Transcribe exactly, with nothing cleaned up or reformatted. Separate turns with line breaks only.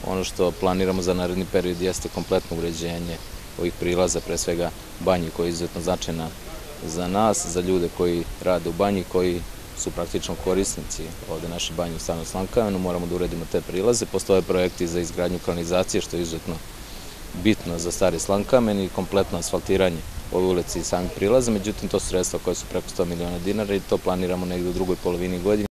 Ono što planiramo za naredni period jeste kompletno uređenje ovih prilaza, pre svega banji koja je izuzetno značajna za nas, za ljude koji rade u banji, koji su praktično korisnici ovde naše banje u Starom Slankamenu. Moramo da uredimo te prilaze. Postoje projekti za izgradnju kanalizacije, što je izuzetno bitno za Stari Slankamen, i kompletno asfaltiranje ove ulice i samih prilaza. Međutim, to su sredstva koja su preko sto miliona dinara i to planiramo negde u drugoj polovini godine.